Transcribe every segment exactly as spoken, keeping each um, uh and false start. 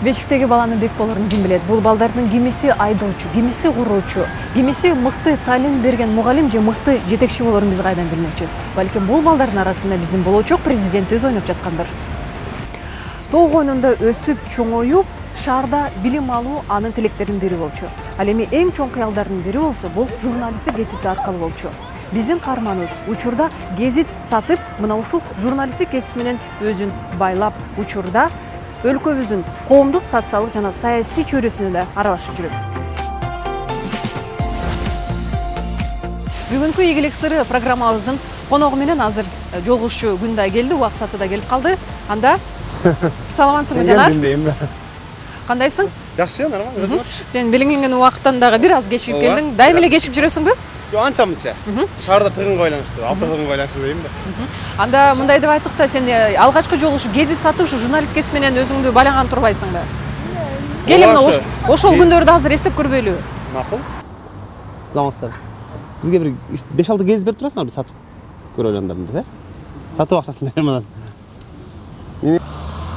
Бешиктеги баланы Бекболорун ким билет? Бул балдардын кимиси айдоочу, кимиси куруучу, кимиси мыкты талим берген мугалим же мыкты жетекчи болорун биз кайдан билмекчибиз. Балким бул балдардын арасында биздин болочок президент өзү ойноп жаткандыр. Тоо койнунда өсүп чоңоюп, шаарда билим алуу анын тилектеринин бири болчу. Ал эми эң чоң кыялдардын бири болсо, бул журналисттик кесипти аркылуу болчу. Биздин каарманыбыз учурда гезит сатып, мына ушул журналисттик кесип менен өзүн байлап, учурда өлкөбүздүн коомдук, социалдык жана саясий чөйрөсүнө да аралашып жүрөт. Бүгүнкү ийгилик сыры программабыздын коногу менен азыр жолугушчу күн да келди, убакыты да келип калды. Анда саламатсыңбы Жанар? Кандайсың? Жакшы, нормально. Сен белгиленген убакыттан дагы бир аз кечигип келдиң. Дайыма эле кечигип жүрөсүңбү? Жок, анча-мынча. Шаарда тыгынга байланыштуу, алты тыгынга байланыштуу дейм да. Анда мындай деп айттык да, сен алгачкы жолу ушу гезит сатып, ушу журналист кесип менен өзүңдү байланган турбайсыңбы? Кел мына ошол күндөрдү азыр эстеп көрбөйлү. Макул. Саламатсыздар. Бизге бир беш алты гезит берип турасыңарбы сатып көрө элемдерди, э? Сатып акчасы менен мына.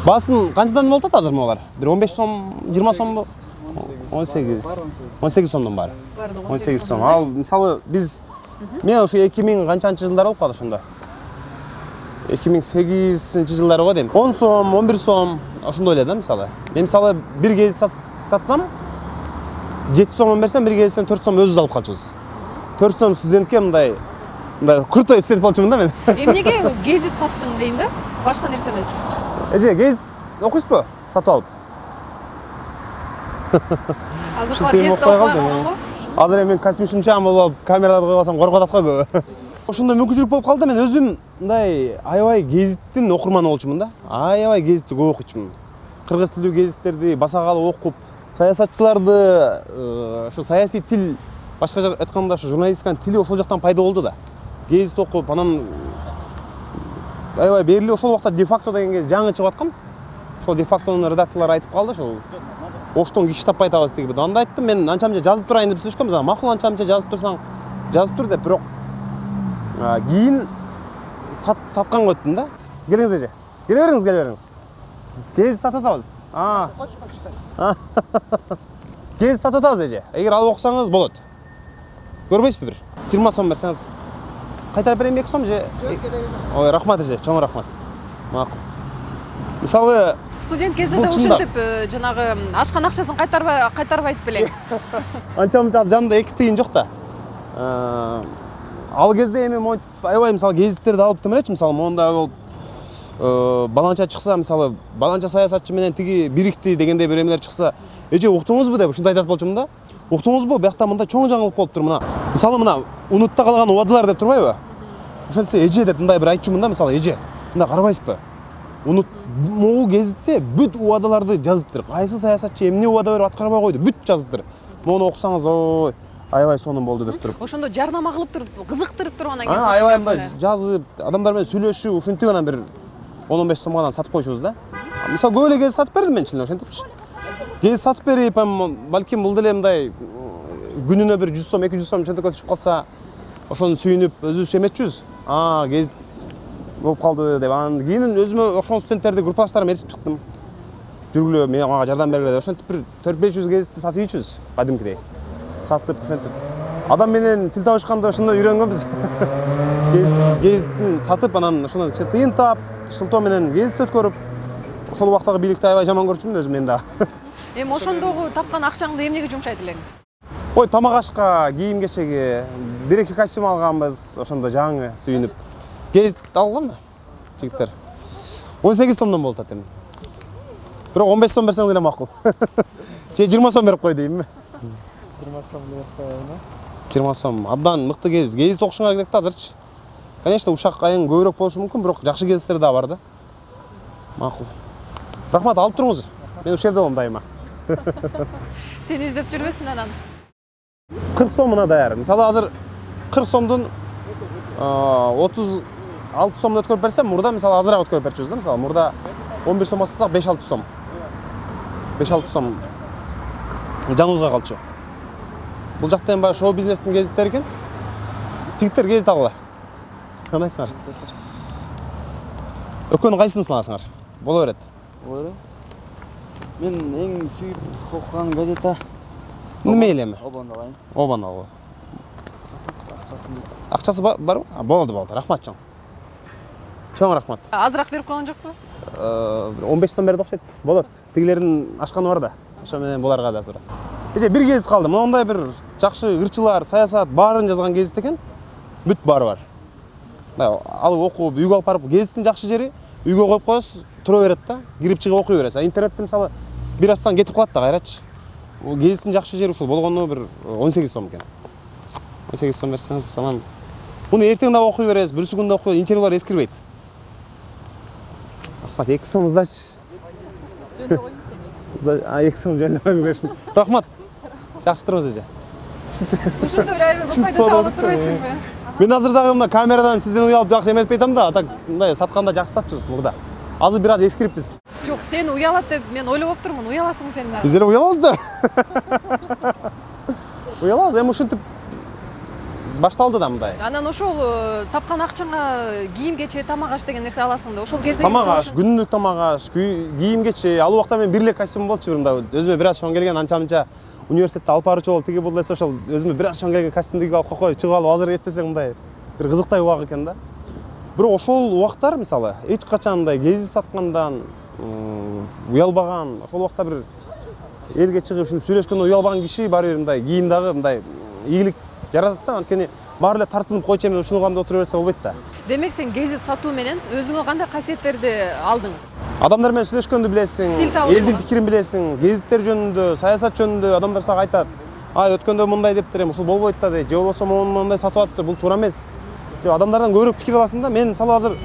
Басын канчадан болуп атат азыр могулар? Бир он беш сом, жыйырма сомбу? он сегиз. он сегиз сомдон баары. он сегиз сом. Ал мисалы биз мен ошо эки миң канчанчы жылдар болуп калды ошондо. эки миң сегизинчи жылдары го дейм. он сом, он бир сом ошондой эле да мисалы. Мен мисалы бир гезит сатсам жети сомон берсем, бир гезиттен төрт сом өзүбүз алып калчубуз. төрт сом студентке мындай мындай крутой истеп болчумун да мен. Эмнеге гезит саттың дейм да? Башка нерсе эмес. Эже, гезит окуйсузбу? Сатып алып. Азыр гезит окуй калдым. Азыр мен космичимчан болуп алып, камераларды коюп алсам коркуп атат го көбү. Ошондой мүмкүнчүлүк болуп калды, мен өзүм мындай аябай гезиттин окурманы болчумун да. Аябай гезитти көп окуйчумун. Кыргыз тилдүү гезиттерди басакалы окуп, саясатчыларды, ошо саясий тил, башка жак айтканда ошо журналистиканын тили ошол жактан пайда болду да. Гезит окуп, анан аябай берили ошол убакта де-факто деген кез жаңы чыгып аткан. Ошол де-фактонун редакторлору айтып калды, ошол оштон киши таппай атабыз деген. Анда айттым, мен анча-мынча жазып турайын деп сүйлөшкөнбүз. Макул, анча-мынча жазып турсаң, жазып тур деп, бирок кийин сатканга өттүм да. Келиңиз эже. Келе бериңиз, келе бериңиз. Гезит сатып атабыз. А. Гезит сатып атабыз эже. Эгер алып окусаңыз болот. Көрбөйсүзбү бир? жыйырма сом берсеңиз кайтарып берейинби эки сом же? Ой, рахмат эже, чоң рахмат. Макул. Мисалы, студент кезинде ушинтип жанагы ашкан акчасын кайтарбай кайтарбайт белең. Анча-мынча жанында эки тыйын жок да. Ал кезде эми монтип аябай мисалы гезиттерди алып тем элечи, мисалы монда болуп баланча чыкса, мисалы баланча саясатчы менен тиги бирикти дегендей бир эмелер чыкса, эже уктуңузбу деп ушундай айтат болчумун да. Уктуңузбу, биякта мындай чоң жаңылык болуп тур мына. Мисалы мына унутта калган убадалар деп турбайбы? Ошентсе эже деп мындай бир айтчумун да, мисалы эже. Мында карабайсызбы? Унут могу гезитте бүт убадаларды жазыптыр. Кайсы саясатчы эмне убада берип аткарбай койду, бүт жазыптыр. Мону окусаңыз, ой, аябай сонун болду деп туруп. Ошондо жарнама кылып туруп, кызыктырып туруп анан кийин аябай мындай жазып, адамдар менен сүйлөшүп, ушинтип анан бир он он беш сомго анан сатып койчубуз да. Мисалы көп эле гезит сатып бердим мен чын ошентипчи. Гезит сатып берип, балким бул деле мындай күнүнө бир жүз сом, эки жүз сом чентекке түшүп калса, ошону сүйүнүп өзүбүз эметчүбүз. А, гезит болуп калды деп. Анан кийин өзүмө ошол студенттерди группалаштарыма ээрчип чыктым. Жүргүлө, мен мага жардам бергиле деп. Ошентип бир төрт беш жүз гезитти сатып ийчүбүз, кадимкидей. Сатып ошентип. Адам менен тил табышканда ошондой үйрөнгөнбүз. Гезитти сатып, анан ошондо тыйын таап, шылтоо менен гезит өткөрүп, ошол убактагы бийликти аябай жаман көрчүмүн өзүм мен да. Эми ошондогу тапкан акчаңды эмнеге жумшайт элең? Ой, тамак ашка, кийим кечеге, бир эки костюм алганбыз, ошондо жаңы сүйүнүп. Гезит алганбы, жигиттер? он сегиз сомдон болуп атат эми. Бирок он беш сом берсең деле макул. Же жыйырма сом берип кой деймби? жыйырма сом берип коеюн. жыйырма сом. Абдан мыкты гезит. Гезит окушуңар керек да азырчы. Конечно, ушак айың көбүрөөк болушу мүмкүн, бирок жакшы гезиттер да бар да. Макул. Рахмат, алып туруңуз. Мен ушул жерде болом дайыма. Сени издеп жүрбөсүн анан. кырк сом мына даяр. Мисалы азыр кырк сомдун отуз алты сомун өткөрүп берсем, мурда мисалы азыраак өткөрүп берчүбүз да, мисалы мурда он бир сом астасак беш алты сом. беш алты сом жаныбызга калчу. Бул жакта эми шоу бизнестин гезиттери экен. Жигиттер гезит алгыла. Кандайсыңар? Өкөнүн кайсысын саласыңар? Боло берет. Боло. Мен эң сүйүп окуган газета Неме эле эми? Обон алайын. Обан алгы. Акчасын Акчасы барбы? Болду, болду. Рахмат чоң. Чоң рахмат. Азыраак берип койгон жокпу? он беш сом берди окшойт. Болот. Тигилердин ашканы бар да. Ошо менен буларга да туура. Эже бир гезит калды. Мондай бир жакшы ырчылар, саясат баарын жазган гезит экен. Бүт баары бар. Алып окуп, үйгө алып барып, гезиттин жакшы жери үйгө коюп коесуз, тура берет да, кирип чыгып окуй бересиз. А интернетте мисалы бир ачсаң кетип калат да кайрачы. Бул гезиттин жакшы жери ушул болгону бир он сегиз сом экен. он сегиз сом берсеңиз, анан муну эртең дагы окуй бересиз, бүрсү күн да окуй, интервьюлар эскирбейт. Рахмат, эки сом сдачы. А эки сом жөнүндө коюп беришин. Рахмат. Жакшы турбуз эже. Ушинтип эле айбыр пайда таап турбайсыңбы? Мен азыр дагы мына камерадан сизден уялып жакшы эметпей атам да, атак мындай сатканда жакшы сатчубуз мурда. Азыр бир аз эскириппиз. Жок, сени уялат деп мен ойлоп турмун. Уяласың сен дагы. Биз деле уялабыз да. Уялабыз, эми ушинтип башталды да мындай. Анан ошол тапкан акчаңа кийим-кече, тамак-аш деген нерсе аласың да. Ошол кезде Тамак-аш, күнүлүк тамак-аш, кийим-кече, ал убакта мен бир эле костюм болчу мында. Өзүмө бир аз чоң келген, анча-мынча университетте алып барчу болуп, тиги бул десе ошол өзүмө бир аз чоң келген костюмду кийип алып койгоп, чыгып алып азыр эстесең мындай бир кызыктай убак экен да. Бирок ошол убактар мисалы эч качан мындай гезит саткандан уялбаган, ошол убакта бир элге чыгып ушинтип сүйлөшкөндө уялбаган киши баары бир мындай кийин дагы мындай ийгилик жаратат да. Анткени баары эле тартынып койчу эми ушуну кылам деп отура берсе болбойт да. Демек сен гезит сатуу менен өзүңө кандай касиеттерди алдың? Адамдар менен сүйлөшкөндү билесиң, Тил табышкы. элдин пикирин билесиң, гезиттер жөнүндө, саясат жөнүндө адамдар сага айтат. Ай, өткөндө мындай дептир, эми ушул болбойт да дейт. Же болбосо моундай сатып аттыр, бул туура эмес. Деп адамдардан көбүрөөк пикир аласың да. Мен мисалы азыр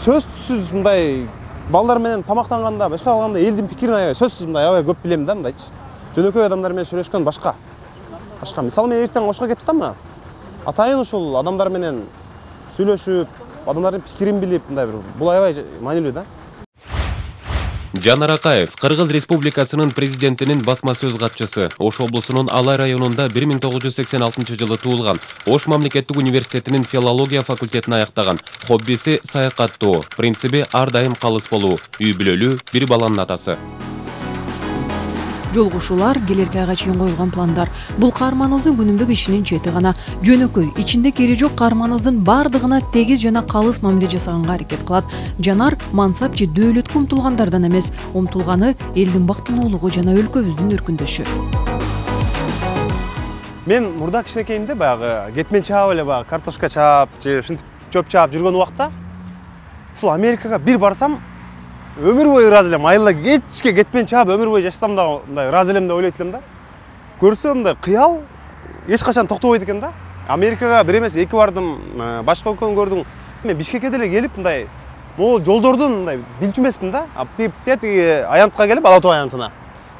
сөзсүз мындай балдар менен тамактанганда, башка калганда элдин пикирин аябай сөзсүз мындай аябай көп билем да мындайчы. Жөнөкөй адамдар менен сүйлөшкөн башка. Башка. Мисалы мен эртең Ошко кеттим да мына. Атайын ушул адамдар менен сүйлөшүп, адамдардын пикирин билип, мындай бир бул аябай маанилүү да. Жанар Акаев, Кыргыз Республикасынын президентинин басма сөз катчысы. Ош облусунун Алай районунда бир миң тогуз жүз сексен алтынчы жылы туулган. Ош мамлекеттик университетинин филология факультетин аяктаган. Хоббиси саякаттоо, принциби ар дайым калыс болуу. Үй бүлөлүү, бир баланын атасы. Жолгушуулар, келерки айга чейин коюлган пландар. Бул каарманыбыздын күнүмдүк ишинин чети гана. Жөнөкөй, ичинде кереги жок каарманыбыздын бардыгына тегиз жана калыс мамиле жасаганга аракет кылат. Жанар мансап же дөөлөткө умтулгандардан эмес, умтулганы элдин бактылуулугу жана өлкөбүздүн өркүндөшү. Мен мурда кичинекейимде баягы кетмен чаап эле баягы картошка чаап же ушинтип чөп чаап жүргөн убакта ушул Америкага бир барсам өмүр бою ыраазы элем. Айылда кечке кетмен чаап өмүр бою жашасам да мындай ыраазы элем деп ойлойт элем да. Көрсөм мындай кыял эч качан токтобойт экен да. Америкага бир эмес эки бардым, башка өлкөнү көрдүм. Мен Бишкекке деле келип мындай могул жолдордун мындай билчү эмесмин да. Тиги аянтка келип, Ала Тоо аянтына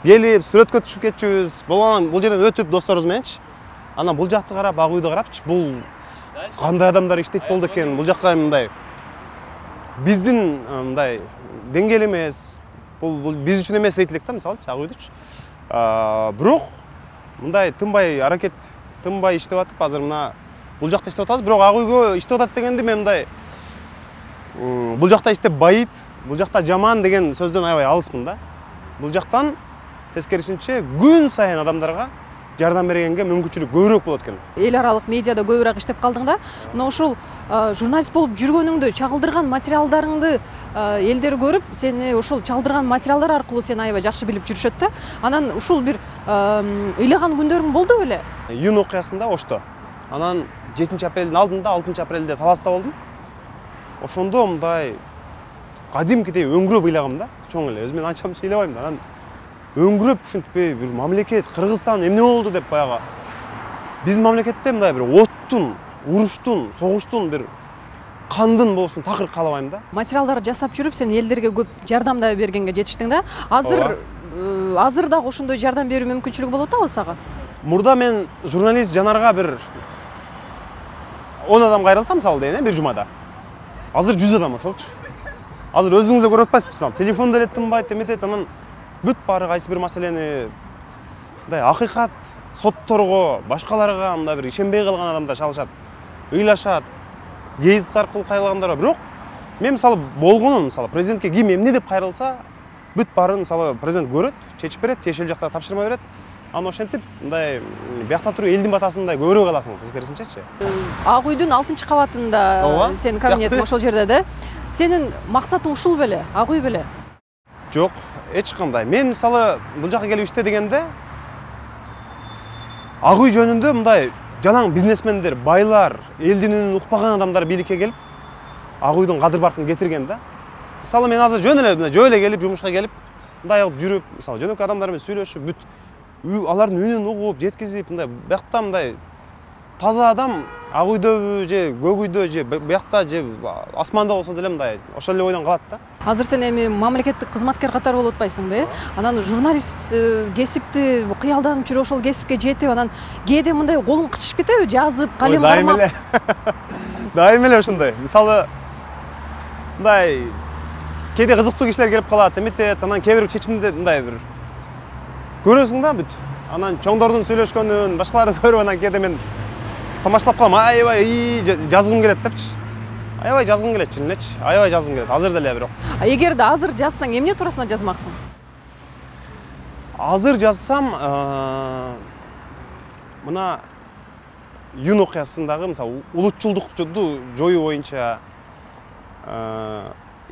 келип, сүрөткө түшүп кетчүбүз. Болгон бул жерден өтүп досторубуз мененчи. Анан бул жакты карап, ак үйдү карапчы, бул кандай адамдар иштейт болду экен. Бул жакка мындай биздин мындай деңгээл эмес, бул биз үчүн эмес дейт элек да, мисалычы, ак үйдүчү. Бирок мындай тынбай аракет, тынбай иштеп атып, азыр мына бул жакта иштеп атабыз. Бирок ак үйгө иштеп атат дегенди мен мындай бул жакта иштеп байыт, бул жакта жаман деген сөздөн аябай алыспын да. Бул жактан тескерисинче күн сайын адамдарга жардам бергенге мүмкүнчүлүк көбүрөөк болот экен. Эл аралык медиада көбүрөөк иштеп калдың да. Мына ушул журналист болуп жүргөнүңдү, чагылдырган материалдарыңды элдер көрүп, сени ушул чагылдырган материалдар аркылуу сени аябай жакшы билип жүрүшөт да. Анан ушул бир ыйлаган күндөрүң болду беле? Июнь окуясында Ошто. Анан жетинчи апрелдин алдында, алтынчы апрелде Таласта болдум. Ошондо мындай кадимкидей өңгүрөп ыйлагам да. Чоң эле, өзүм анча-мынча ыйлабайм да. Анан өңгүрөп ушинтпей бир мамлекет, Кыргызстан эмне болду деп баягы биздин мамлекетте мындай бир оттун, уруштун, согуштун, бир кандын болушун такыр каалабайм да. Материалдар жасап жүрүп, сен элдерге көп жардам да бергенге жетиштиң да. Азыр азыр дагы ошондой жардам берүү мүмкүнчүлүгү болуп атабы сага? Мурда мен журналист Жанарга бир он адам кайрылса мисалы дейин, бир жумада. Азыр жүз адам ошолчу. Азыр өзүңүз да көрүп атпайсызбы, мисалы телефон деле тынбайт, эметет, анан бүт баары кайсы бир маселени мындай акыйкат сотторго, башкаларга мындай бир ишенбей калган адамдар чалышат, ыйлашат, гезит аркылуу кайрылгандар бар. Бирок мен мисалы болгонун, мисалы президентке ким эмне деп кайрылса, бүт баарын мисалы президент көрөт, чечип берет, тиешелүү жакта тапшырма берет. Аны ошентип мындай биякта туруп элдин батасын мындай көбүрөөк аласың тескерисинчечи. Ак үйдүн алтынчы кабатында сенин кабинетиң ошол жерде да. Сенин максатың ушул беле, Ак үй беле? Жок, эч кандай. Мен мисалы бул жака келип иште дегенде Ак үй жөнүндө мындай жалаң бизнесмендер, байлар, элдин үнүн укпаган адамдар бийликке келип, Ак үйдүн кадыр баркын кетирген да. Мисалы мен азыр жөн эле жөө эле келип, жумушка келип, мындай кылып жүрүп, мисалы жөнөкөй адамдар менен сүйлөшүп, бүт алардын үнүн угуп, жеткизип, мындай биякта мындай таза адам Ак үйдөбү же көк үйдө же биякта же асманда болсо деле мындай ошол эле ойдон калат да. Азыр сен эми мамлекеттик кызматкер катары болуп атпайсыңбы, э? Анан журналист кесипти кыялданып жүрүп ошол кесипке жетип, анан кээде мындай колуң кычышып кетеби, жазып, калем кармап? Дайым эле. Дайым эле ошондой. Мисалы мындай кээде кызыктуу кишилер келип калат, эметет, анан кээ бир чечимди мындай бир көрөсүң да бүт. Анан чоңдордун сүйлөшкөнүн, башкаларды көрүп анан кээде мен тамашалап калам, аябай жазгым келет депчи. Аябай жазгым келет элечи, аябай жазгым келет. Азыр деле бирок. А эгерде азыр жазсаң, эмне туурасында жазмаксың? Азыр жазсам, мына Юн окуясындагы мисалы улутчулдукту жоюу боюнча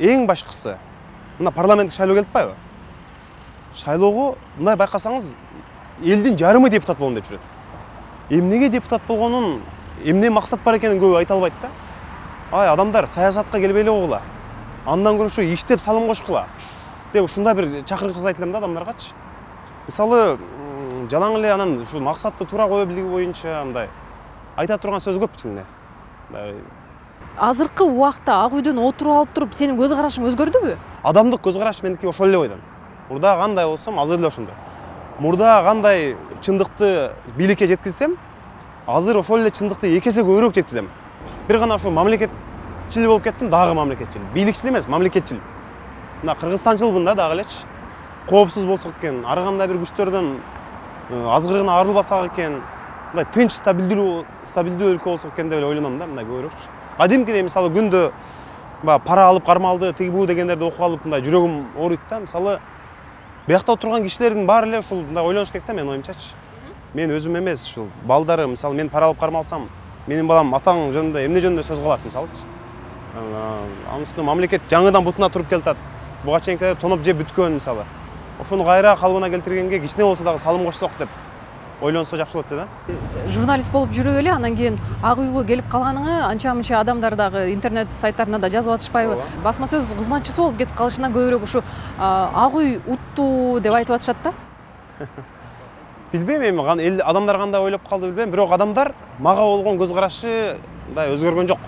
эң башкысы мына парламент шайлоо келип атпайбы? Шайлоого мындай байкасаңыз, элдин жарымы депутат болом деп жүрөт. Эмнеге депутат болгонун, эмне максат бар экенин көбү айта албайт да. Ай, адамдар саясатка келбей эле койгула. Андан көрүшө иштеп салым кошкула деп ушундай бир чакырык жасайт элем да адамдаргачы. Мисалы, жалаң эле анан ушу максатты туура кое билиги боюнча мындай айта турган сөз көп чынында. Азыркы убакта Ак үйдөн отуруп алып туруп, сенин көз карашың өзгөрдүбү? Адамдык көз караш меники ошол эле бойдон. Мурда кандай болсом, азыр эле ошондой. Мурда кандай чындыкты бийликке жеткизсем, азыр ошол эле чындыкты эки эсе көбүрөөк жеткизем. Бир гана ушу мамлекетчил болуп кеттим, дагы мамлекетчил. Бийликчил эмес, мамлекетчил. Мына кыргызстанчылмын да дагы элечи. Коопсуз болсок экен, ар кандай бир күчтөрдөн азгырыгына арылбасак экен, мындай тынч, стабилдүү, стабилдүү өлкө болсок экен деп ойлоном да, мындай көбүрөөкчү. Кадимкидей мисалы күндө пара алып кармалды, тиги бу дегендерди окуп алып мындай жүрөгүм ооруйт да. Мисалы биякта отурган кишилердин баары эле ушул мындай ойлонуш керек да, менин оюмчачы. Мен өзүм эмес, ушул балдары, мисалы мен пара алып кармалсам, менин балам атаң жөнүндө, эмне жөнүндө сөз кылат мисалычы. Анын үстүнө мамлекет жаңыдан бутуна туруп келатат. Буга чейинки тоноп жеп бүткөн мисалы. Ошону кайра калыбына келтиргенге кичине болсо дагы салым кошсок деп ойлонсо жакшы болот эле да. Журналист болуп жүрүп эле, анан кийин Ак үйгө келип калганыңы анча-мынча адамдар дагы интернет сайттарына да жазып атышпайбы? Басма сөз кызматчысы болуп кетип калышынан көбүрөөк ушу Ак үй утту деп айтып атышат да. Билбейм эми адамдар кандай ойлоп калды билбейм, бирок адамдар мага болгон көз карашы мындай өзгөргөн жок.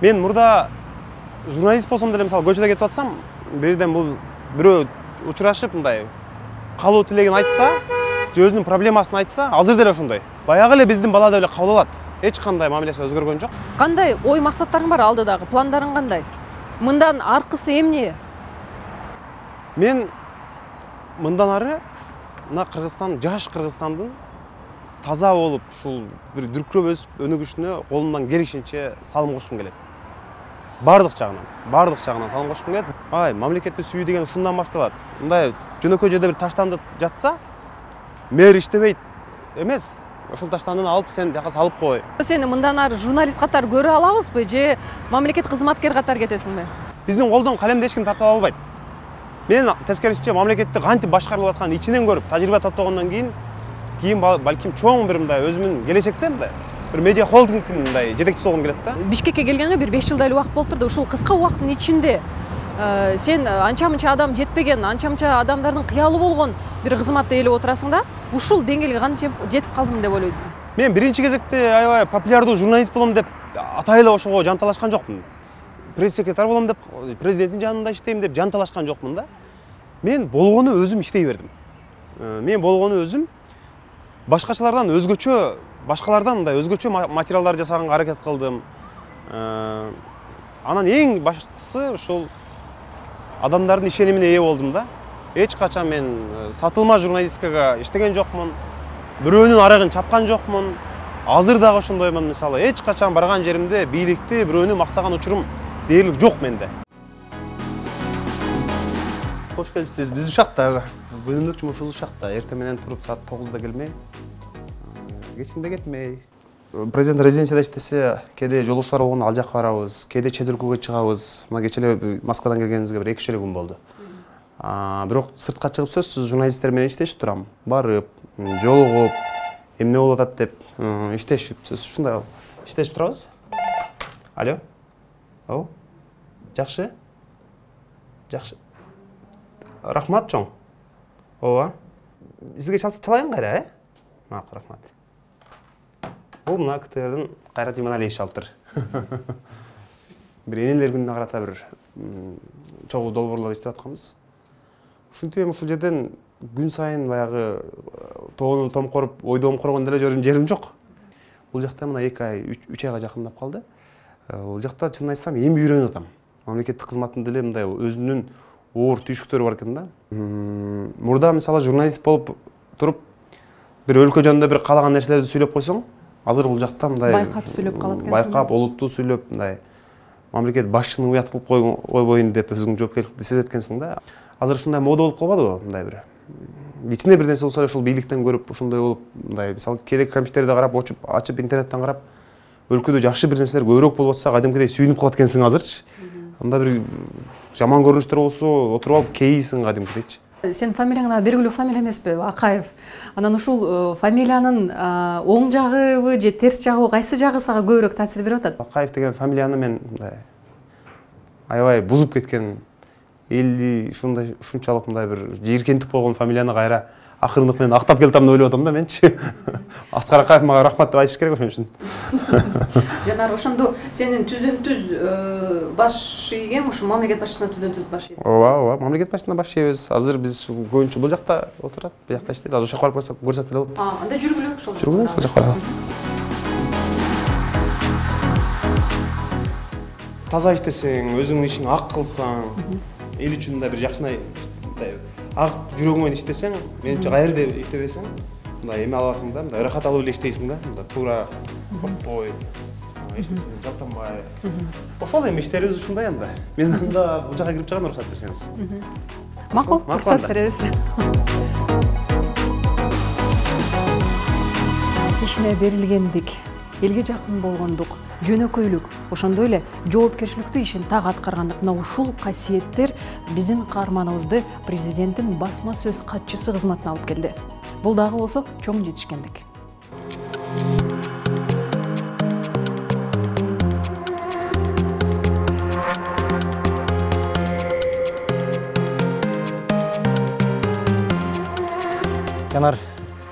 Мен мурда журналист болсом деле мисалы көчөдө кетип атсам, бирден бул бирөө учурашып мындай калуу тилегин айтса, же өзүнүн проблемасын айтса, азыр деле ошондой. Баягы эле биздин бала деп эле кабыл алат. Эч кандай мамилеси өзгөргөн жок. Кандай ой максаттарың бар алдыдагы? Пландарың кандай? Мындан аркысы эмне? Мен мындан ары мына Кыргызстан, жаш Кыргызстандын таза болуп, ушул бир дүркүрөп өсүп өнүгүшүнө колумдан келишинче салым кошкум келет. Бардык жагынан, бардык жагынан салым кошкум келет. Ай, мамлекетти сүйүү деген ушундан башталат. Мындай жөнөкөй жерде бир таштанды жатса, мэр иштебейт эмес, ошол таштандыны алып сен жака салып кой. Сени мындан ары журналист катары көрө алабызбы же мамлекет кызматкер катары кетесиңби? Биздин колдон калемди эч ким тартып ала албайт. Мен тескерисинче мамлекетти кантип башкарылып атканын ичинен көрүп, тажрыйба топтогондон кийин кийин балким чоң бир мындай өзүмдүн келечекте мындай бир медиа холдингдин мындай жетекчиси болгум келет да. Бишкекке келгенге бир беш жылдай эле убакыт болуптур да, ушул кыска убакыттын ичинде сен анча-мынча адам жетпеген, анча-мынча адамдардын кыялы болгон бир кызматты ээлеп отурасың да, ушул деңгээлге кантип жетип калдым деп ойлойсуң? Мен биринчи кезекте аябай популярдуу журналист болом деп атай эле ошого жанталашкан жокмун. Пресс-секретарь болом деп, президенттин жанында иштейм деп жанталашкан жокмун да. Мен болгону өзүм иштей бердим. Мен болгону өзүм башкачалардан өзгөчө, башкалардан мындай өзгөчө материалдар жасаганга аракет кылдым. Анан эң баштысы ушул адамдардын ишенимине ээ болдум да. Эч качан мен сатылма журналистикага иштеген жокмун. Бирөөнүн арыгын чапкан жокмун. Азыр дагы ошондоймун мисалы. Эч качан барган жеримде бийликти бирөөнү мактаган учурум дээрлик жок менде. Кош келипсиз. Биз ушакта бөлүмдүк жумушубуз ушакта. Эртең менен туруп саат тогузда келмей, кечинде кетмей. Президент резиденцияда иштесе, кээде жолугушуулар болгондо ал жакка барабыз, кээде чет өлкөгө чыгабыз. Мына кече эле Москвадан келгенибизге бир эки үч эле күн болду. Бирок сыртка чыгып сөзсүз журналисттер менен иштешип турам. Барып, жолугуп, эмне болуп атат деп иштешип, сөзсүз ушундай иштешип турабыз. Алло. О. Жакшы. Жакшы. Рахмат чоң. Ооба. Сизге чалайын кайра, э? Макул, рахмат. Бул мына КТРдин Кайрат Иманалиевич алыптыр. Бир энелер күнүнө карата бир чогуу долбоорлор иштеп атканбыз. Ушинтип эми ушул жерден күн сайын баягы тоону томкоруп, ойдо омкоргон деле жүрүм жерим жок. Бул жакта мына эки ай, үч айга жакындап калды. Бул жакта чын айтсам эми үйрөнүп атам. Мамлекеттик кызматтын деле мындай өзүнүн оор түйшүктөрү бар экен да. Мурда мисалы журналист болуп туруп бир өлкө жөнүндө бир каалаган нерселерди сүйлөп койсоң, азыр бул жакта мындай байкап сүйлөп калат экенсиң. Байкап, олуттуу сүйлөп, мындай мамлекет башчыны уят кылып койбойн деп өзүң жоопкерчиликти сезет экенсиң да. Азыр ушундай мода болуп калбадыбы? Мындай бир кичине бир нерсе болсо ушул бийликтен көрүп, ушундай болуп, мындай мисалы кээде компьютерди карап, очуп, ачып интернеттен карап, өлкөдө жакшы бир нерселер көбүрөөк болуп атса, кадимкидей сүйүнүп калат экенсиң азырчы. Анда бир жаман көрүнүштөр болсо, отуруп алып кейисиң кадимкидейчи. Сен фамилияң белгилүү фамилия эмеспи? Акаев. Анан ушул фамилиянын оң жагыбы же терс жагыбы, кайсы жагы сага көбүрөөк таасир берип атат? Акаев деген фамилияны мен мындай аябай бузуп кеткен, элди ушундай ушунчалык мындай бир жийиркентип койгон фамилияны кайра акырындык менен актап келатам деп ойлоп атам да менчи. Аскар Акаев мага рахмат деп айтыш керек ошон үчүн. Жанар, ошондо сенин түздөн түз баш ийгем ушу мамлекет башчысына түздөн түз баш ийсиң. Ооба, ооба, мамлекет башчысына баш ийбиз. Азыр биз көбүнчө бул жакта отурат, бул жакта иштейт. Азыр ошол жака барып көрсөк деле болот. А, анда жүргүлөк ошол. Жүргүлөк ошол жака. Таза иштесең, өзүңдүн ишиңди ак кылсаң, эл үчүн да бир жакшынай ак жүрөгүң менен иштесең, менимче кайерде иштебесең, мындай эме аласың да, мындай ырахат алып эле иштейсиң да, мындай туура, коркпой, эчтесинен жалтанбай. Ошол эми иштерибиз ушундай анда. Мен анда бул жака кирип чыгам, уруксат берсеңиз. Макул, уруксат беребиз. Ишине берилгендик, элге жакын болгондук, жөнөкөйлүк, ошондой эле жоопкерчиликтүү ишин так аткаргандык, мына ушул касиеттер биздин каарманыбызды президенттин басма сөз катчысы кызматына алып келди. Бул дагы болсо чоң жетишкендик. Жанар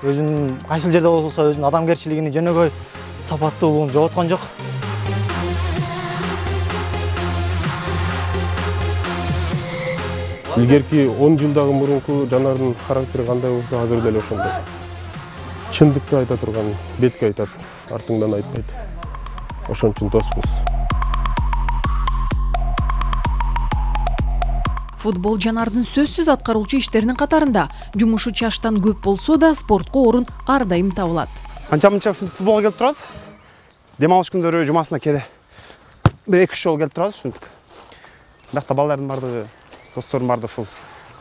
өзүнүн кайсыл жерде болсо өзүнүн адамгерчилигини, жөнөкөй сапаттуулугун жоготкон жок. Илгерки он жылдагы мурунку Жанардын характери кандай болсо, азыр деле ошондой. Чындыкты айта турган, бетке айтат, артыңдан айтпайт. Ошон үчүн доспуз. Футбол Жанардын сөзсүз аткаруучу иштеринин катарында. Жумушу чаштан көп болсо да спортко орун ар дайым табылат. Анча-мынча футболго келип турабыз. Дем алыш күндөрү жумасына кээде бир эки үч жолу келип турабыз ушинтип. Биякта балдардын бардыгы, достордун бардыгы ушул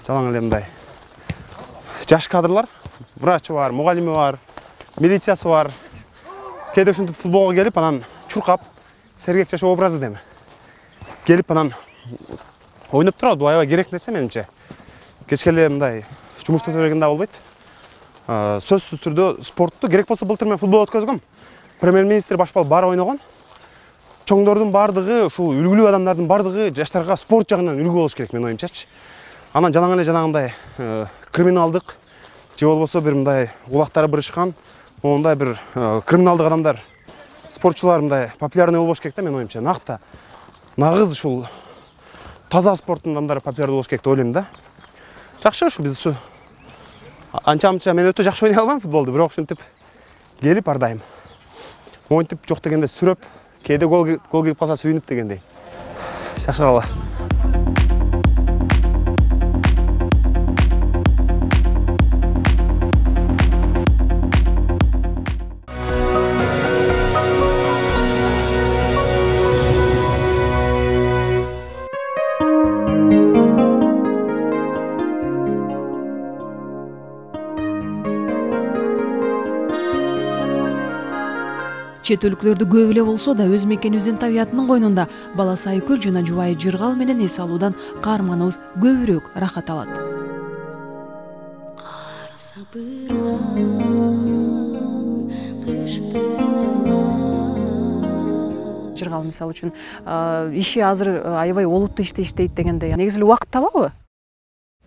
жалаң эле мындай жаш кадрлар, врачы бар, мугалими бар, милициясы бар. Кээде ушинтип футболго келип, анан чуркап, сергек жашоо образы деме. Келип анан ойноп турат, бул аябай керек нерсе менимче. Кечке эле мындай жумушта отура да болбойт. Сөзсүз түрдө спортту керек болсо былтыр мен футбол өткөзгөм. Премьер-министр баш болуп баары ойногон. Чоңдордун бардыгы, ушул үлгүлүү адамдардын бардыгы жаштарга спорт жагынан үлгү болуш керек менин оюмчачы. Анан жалаң эле жанагындай криминалдык же болбосо бир мындай кулактары бырышкан, мондай бир криминалдык адамдар, спортчулар мындай популярный болбош керек да менин оюмча. Накта нагыз ушул таза спорттун адамдары популярдуу болуш керек деп ойлойм да. Жакшы ушу биз ушу анча-мынча мен өтө жакшы ойной албайм футболду, бирок ушинтип келип ар дайым монтип жок дегенде сүрөп, кээде гол гол кирип калса сүйүнүп дегендей. Шашыралар. Чет өлкөлөрдө көп эле болсо да өз мекенибиздин табиятынын койнунда баласы Айкөл жана жубайы Жыргал менен эс алуудан каарманыбыз көбүрөөк рахат алат. Жыргал мисалы үчүн иши азыр аябай олуттуу ишти иштейт дегенде негизи эле убакыт табабы?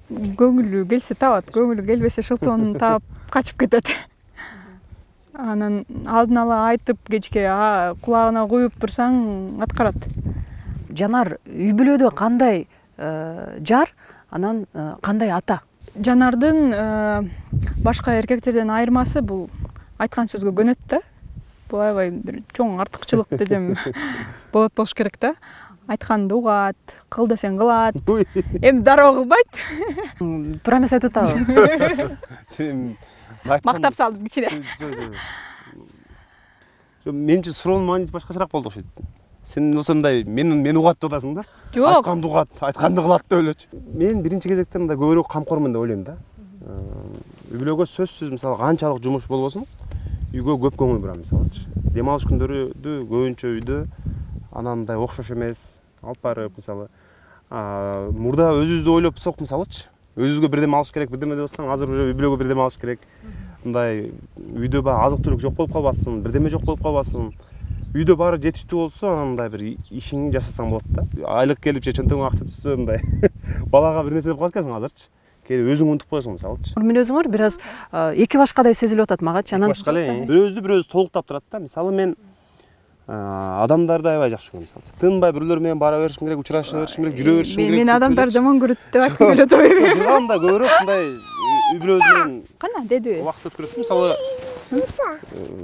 Көңүлү келсе табат, көңүлү келбесе шылтоонун таап качып кетет. Анан алдын ала айтып кечке кулагына куюп турсаң аткарат. Жанар үй бүлөдө кандай жар, анан кандай ата? Жанардын башка эркектерден айырмасы бул айткан сөзгө көнөт да. Бул аябай бир чоң артыкчылык десем болот болуш керек да. Айтканды угат, кыл десең кылат. Эми дароо кылбайт. Туура эмес айтып атабы? Сен Мактап салдым кичине. Мен үчүн суроонун мааниси башкачараак болду окшойт. Сен ошондой мен мени угат деп атасың да? Жок. Айтканды угат, айтканды кылат деп элечи. Мен биринчи кезекте мындай көбүрөөк камкормун деп ойлойм да. Үй бүлөгө сөзсүз мисалы канчалык жумуш болбосун, үйгө көп көңүл бурам мисалычы. Дем алыш күндөрү көбүнчө үйдө анан мындай окшош эмес, алып барып мисалы. Мурда өзүбүздү ойлопсок мисалычы, өзүбүзгө бирдеме алыш керек, бирдеме деп атсаң, азыр уже үй бүлөгө бирдеме алыш керек. Мындай үйдө баягы азык түлүк жок болуп калбасын, бирдеме жок болуп калбасын. Үйдө баары жетиштүү болсо, анан мындай бир ишиңди жашасаң болот да. Айлык келип же чөнтөгүңө акча түшсө мындай балага бир нерсе деп калат экенсиң азырчы. Кээде өзүң унутуп коесуң мисалычы. Мүнөзүңөр бир аз эки башкадай сезилип атат магачы. Анан башка эле бирөөбүздү бирөөбүз толуктап турат да. Мисалы мен адамдарды аябай жакшы көрөм мисалы. Тынбай бирлөр менен бара беришим керек, учураша беришим керек, жүрө беришим керек. Мен адамдар жаман көрөт деп айткым келет ойбу. Жырганда көбүрөөк мындай үй бүлөбүз менен Кана дедиби? Убакыт өткөрөт. Мисалы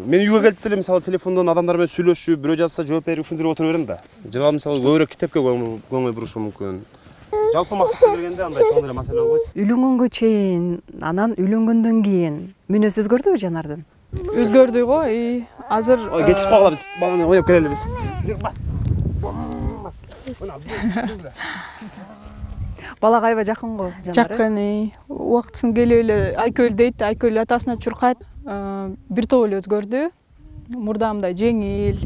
мен үйгө келип деле мисалы телефондон адамдар менен сүйлөшүп, бирөө жазса жооп берип ушинтип отура берем да. Жыргал мисалы көбүрөөк китепке көңүл бурушу мүмкүн. Жалпы максатка келгенде андай чоң эле маселе болбойт. Үйлөнгөнгө чейин, анан үйлөнгөндөн кийин мүнөзү өзгөрдүбү Жанардын? Өзгөрдү го, азыр Ой, кетип калгыла биз. Баланы оюп келели биз. Балага аябай жакын го Жанар. Жакын, убактысын келип эле Айкөл дейт, Айкөл атасына чуркайт. Бир топ эле өзгөрдү. Мурда мындай жеңил,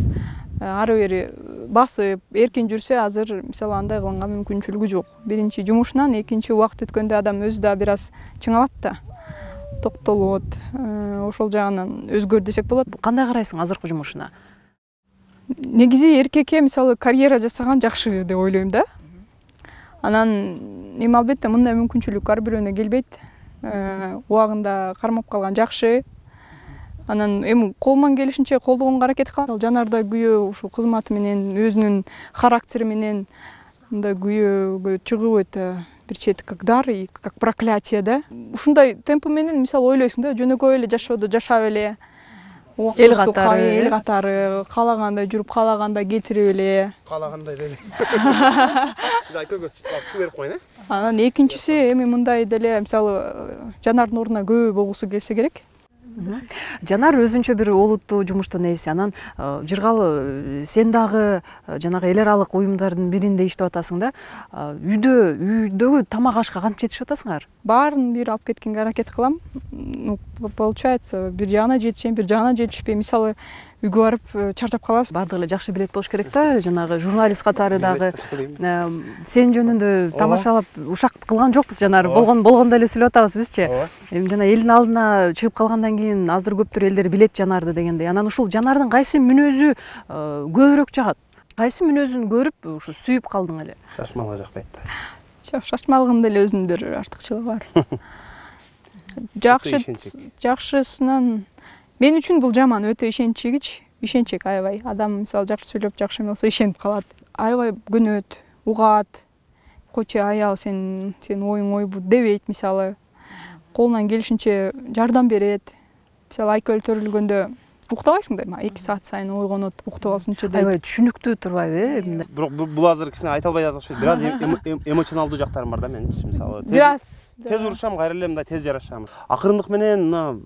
ары бери басып, эркин жүрсө, азыр мисалы андай кылганга мүмкүнчүлүгү жок. Биринчи жумушунан, экинчи убакыт өткөндө адам өзү да бир аз чыңалат да. Токтолот. Ошол жагынан өзгөр десек болот. Кандай карайсың азыркы жумушуна? Негизи эркекке мисалы карьера жасаган жакшы деп ойлойм да. Анан эми албетте мындай мүмкүнчүлүк ар бирөөнө келбейт. Убагында кармап калган жакшы. Анан эми колуман келишинче колдогонго аракет кылам. Жанарда күйөө ушул кызматы менен, өзүнүн характери менен мындай күйөөгө чыгып өтө бир чети как дар и как проклятие да. Ушундай темпи менен мисалы ойлойсуң да, жөнөкөй эле жашоодо жашап эле. Эл катары, эл катары каалагандай жүрүп, каалагандай кетирип эле. Каалагандай деле. Айкөлгө суу берип коюн, э? Анан экинчиси эми мындай деле мисалы Жанардын ордуна көп болгусу келсе керек. Жанар өзүнчө бир олуттуу жумуштун ээси. Анан Жыргал сен дагы жанагы эл аралык уюмдардын биринде иштеп атасың да. Үйдө, үйдөгү тамак ашка кантип жетишип атасыңар? Баарын бир алып кеткенге аракет кылам. Получается, бир жагына жетишем, бир жагына жетишпей, мисалы үйгө барып чарчап калабыз. Бардыгы эле жакшы билет болуш керек да, жанагы журналист катары дагы сен жөнүндө тамашалап ушак кылган жокпуз Жанар. Болгон болгондой эле сүйлөп атабыз бизчи. Эми жана элдин алдына чыгып калгандан кийин азыр көптөр элдер билет Жанарды дегендей. Анан ушул Жанардын кайсы мүнөзү көбүрөөк жагат? Кайсы мүнөзүн көрүп ушу сүйүп калдың эле? Шашмалга жакпайт да. Жок, шашмалыгында эле өзүнүн бир артыкчылыгы бар. Жакшы, жакшысынан мен үчүн бул жаман, өтө ишенчкич, ишенчек аябай. Адам мисалы жакшы сүйлөп, жакшы эмес болсо ишенип калат. Аябай көнөт, угат. Кочо аял сен сен оюң ойбу дебейт мисалы. Колунан келишинче жардам берет. Мисалы Айкөл төрүлгөндө уктабайсың да, эки саат сайын ойгонот, уктап алсынчы дейт. Аябай түшүнүктүү турбайбы, э? Бирок бул азыр кичине айта албай жатат окшойт. Бир аз эмоционалдуу жактарым бар да менин, мисалы. Бир аз тез урушам, кайра эле мындай тез жарашам. Акырындык менен мына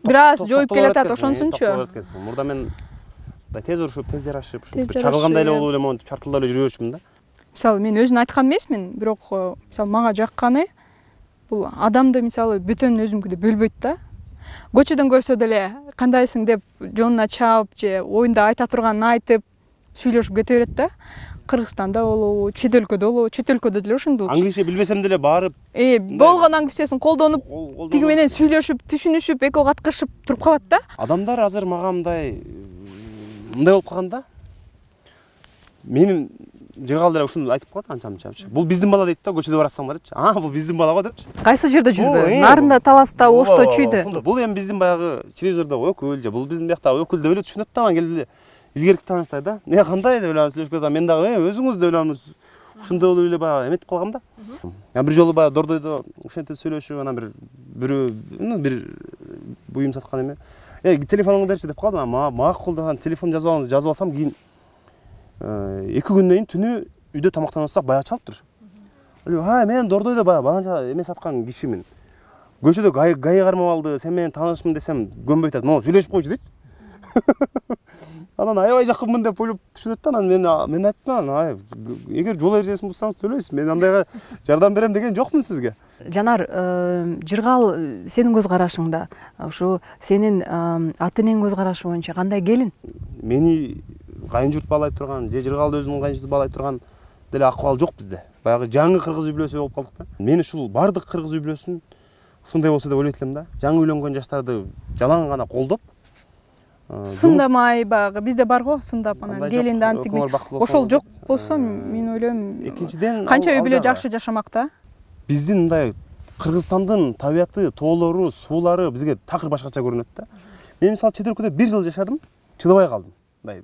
бир аз жоюп келатат, ошонусунчу. Мурда мен мындай тез урушуп, тез жарашып, ушинтип чагылгандай эле болуп эле монтип чартылдап эле жүрө берчүмүн да. Мисалы мен өзүн айткан эмесмин, бирок мисалы мага жакканы бул адамды мисалы бөтөн өзүмкү деп бөлбөйт да. көчөдөн көрсө деле кандайсың деп жонуна чаап же оюнда айта турганын айтып сүйлөшүп кете берет да. Кыргызстанда болобу, чет өлкөдө болобу, чет өлкөдө деле ошондой. Англисче билбесем деле барып, Э, болгон англисчесин колдонуп, тиги менен сүйлөшүп, түшүнүшүп, экөө каткырышып туруп калат да. Адамдар азыр мага мындай мындай болуп калган да. Менин жыргал деле ушуну айтып коет анча-мынча. Бул биздин бала дейт да, көчөдө барасаңдар депчи. А, бул биздин бала го депчи. Кайсы жерде жүрбө? Нарында, Таласта, Ошто, Чүйдө. Бул эми биздин баягы телевизордо өкүл же бул биздин биякта өкүл деп эле түшүнөт да, анан келди илгерки тааныштай да. Не кандай деп эле сүйлөшүп кетем. Мен дагы өзүңүз деп эле ушундай болуп эле баягы эметип калгам да. Мен бир жолу баягы Дордойдо ушентип сүйлөшүп, анан бир бирөө бир буюм саткан эме. Э, телефонуңду берчи деп калдым. Макул деп телефон жазып алыңыз, жазып алсам кийин эки күндөн кийин түнү үйдө тамактанып атсак баягы чалыптыр. Ай, мен Дордойдо баягы баланча эме саткан кишимин. Көчөдө гай кармап алды, сен менен таанышмын десем көнбөй атат. Могу сүйлөшүп койчу дейт. Анан аябай жакынмын деп ойлоп түшүнөт да. Анан мен мен айттым, ай, эгер жол эрежесин бузсаңыз төлөйсүз. Мен андайга жардам берем деген жокмун сизге. Жанар, жыргал сенин көз карашыңда, ушу сенин ата-энең көз карашы боюнча кандай келин? Мени кайын журт баалай турган, же жыргалды өзүнүн кайын журту баалай турган деле акыбал жок бизде. Баягы жаңы кыргыз үй бүлөсү болуп калдык да. Мен ушул бардык кыргыз үй бүлөсүн ушундай болсо деп ойлойт элем да. Жаңы үйлөнгөн жаштарды жалаң гана колдоп, сындамай баягы бизде бар го, сындап анан келинди антип ошол жок болсо мен ойлойм. Экинчиден канча үй бүлө жакшы жашамак да. Биздин мындай Кыргызстандын табияты, тоолору, суулары бизге такыр башкача көрүнөт да. Мен мисалы чет өлкөдө бир жыл жашадым, чыдабай калдым. Мындай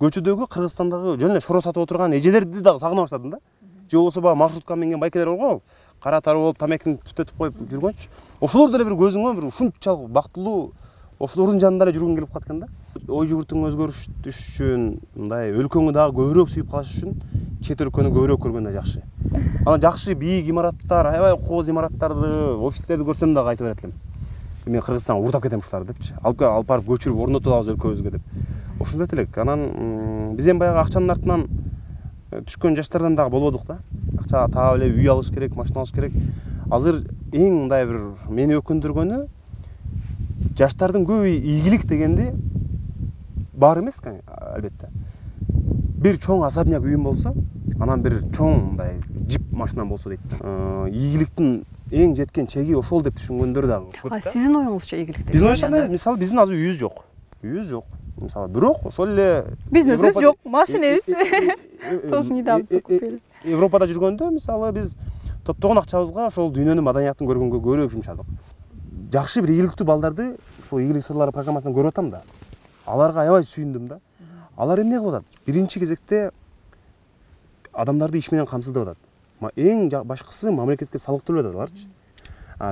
көчөдөгү Кыргызстандагы жөн эле шоро сатып отурган эжелерди дагы сагына баштадым да. Же болбосо баягы маршрутка минген байкелер бар го, кара тары болуп тамекини түтөтүп коюп жүргөнчү. Ошолор деле бир көзүңө бир ушунчалык бактылуу ошолордун жанында эле жүргүң келип калат экен да. Ой жүгүртүң өзгөрүш үчүн, мындай өлкөңү дагы көбүрөөк сүйүп калыш үчүн чет өлкөнү көбүрөөк көргөн да жакшы. Анан жакшы бийик имараттар, аябай кооз имараттарды, офистерди көрсөм дагы айтып берет элем. Мен Кыргызстанга урдап кетем ушуларды депчи. Алып алып барып көчүрүп орнотуп алабыз өлкөбүзгө деп. Ошондой элек. Анан биз эми баягы акчанын артынан түшкөн жаштардан дагы болбодук да. Акча таап эле үй алыш керек, машина алыш керек. Азыр эң мындай бир мени өкүндүргөнү жаштардын көбү ийгилик дегенди бар эмес, албетте. Бир чоң особняк үйүм болсо, анан бир чоң мындай джип машинам болсо дейт да. Ийгиликтин эң жеткен чеги ошол деп түшүнгөндөр дагы көп да. Сиздин оюңузча ийгилик деп? Биздин оюңузча, мисалы биздин азыр үйүбүз жок. Үйүбүз жок. Мисалы, бирок ошол эле бизнесибиз жок, машинебиз. Тосын идеалды. Европада жүргөндө, мисалы, биз топтогон акчабызга ошол дүйнөнүн маданиятын көргөнгө көбүрөөк жумшадык. Жакшы бир ийгиликтүү балдарды ушул ийгилик сырлары программасынан көрүп атам да. Аларга аябай сүйүндүм да. Алар эмне кылып атат? Биринчи кезекте адамдарды иш менен камсыздап атат. Эң башкысы мамлекетке салык төлөп атат аларчы.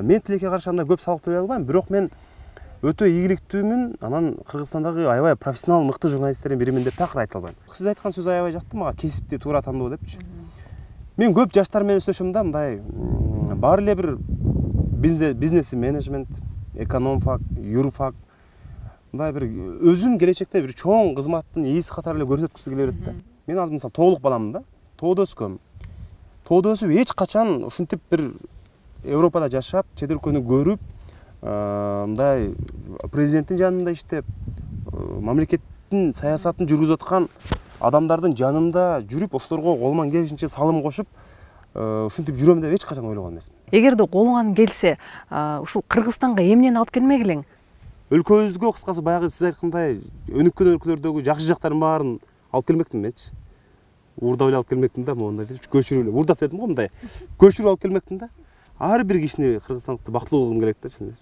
Мен тилекке каршы андай көп салык төлөй албайм, бирок мен өтө ийгиликтүүмүн. Анан Кыргызстандагы аябай профессионал мыкты журналисттердин биримин деп такыр айта албайм. Сиз айткан сөз аябай жакты мага, кесипти туура тандоо депчи. Мен көп жаштар менен сүйлөшөм да, мындай баары эле бир бизнес менеджмент, экономфак, юрфак, мындай бир өзүн келечекте бир чоң кызматтын ээси катары эле көрсөткүсү келе берет да. Мен азыр мисалы тоолук баламын да. Тоодо өскөм. Тоодо өсүп эч качан ушинтип бир Европада жашап, чет өлкөнү көрүп, мындай президенттин жанында иштеп, мамлекеттин саясатын жүргүзүп аткан адамдардын жанында жүрүп, ошолорго колуман келишинче салым кошуп, ушинтип жүрөм деп эч качан ойлогон эмесмин. Эгерде колуңан келсе, ушул Кыргызстанга эмнени алып келмек элең? Өлкөбүзгө кыскасы баягы сиз айткандай өнүккөн өлкөлөрдөгү жакшы жактардын баарын алып келмектимин менчи. Уурдап эле алып келмектимин да, моундай деп көчүрүп эле. Уурдап дедим го, мындай. Көчүрүп алып келмектимин да. Ар бир кишини Кыргызстандыкты бактылуу кылгым келет да, чын эле.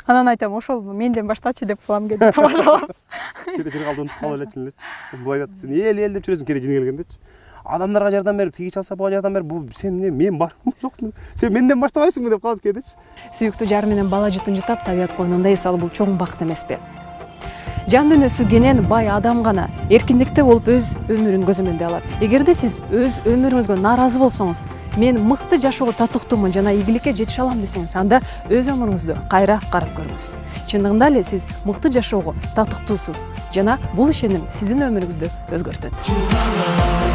Анан айтам, ошол менден баштачы деп калам кеде тамашалап. Кеде жыргалды унутуп калып эле, чын эле. Сен булай айтат, сен эл эл деп жүрөсүң кеде жини келгендечи. Адамдарга жардам берип, тиги чалса буга жардам берип, бул сен эмне, мен бармы, жокму? Сен менден баштабайсыңбы деп калат кедечи. Сүйүктүү жары менен бала жытын жытап табият койнунда эс алуу бул чоң бакыт эмеспи? Жан дүйнөсү кенен бай адам гана эркиндикте болуп өз өмүрүн көзөмөлдөй алат. Эгерде сиз өз өмүрүңүзгө нааразы болсоңуз, мен мыкты жашоого татыктуумун жана ийгиликке жетише алам десеңиз, анда өз өмүрүңүздү кайра карап көрүңүз. Чындыгында эле сиз мыкты жашоого татыктуусуз жана бул ишеним сиздин өмүрүңүздү өзгөртөт.